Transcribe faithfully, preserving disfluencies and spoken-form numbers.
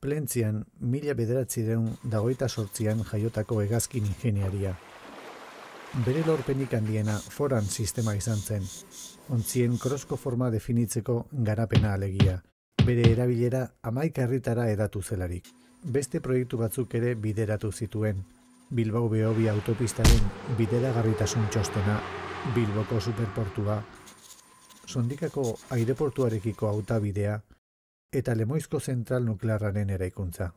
Plentzian, mila bederatziehun eta hogeita zortzian jaiotako hegazkin ingeniaria. Bere lorpenik handiena foran sistema izan zen, ontzien krosko forma definitzeko garapena alegia, bere erabilera hamaika herritara hedatu zelarik. Beste proiektu batzuk ere bideratu zituen, Bilbao Beobi autopistaren bideragarritasun txostena, Bilboko superportua, Sondikako aireportuarekiko hautabidea eta Lemoizko zentral nuklearraren eraikuntza.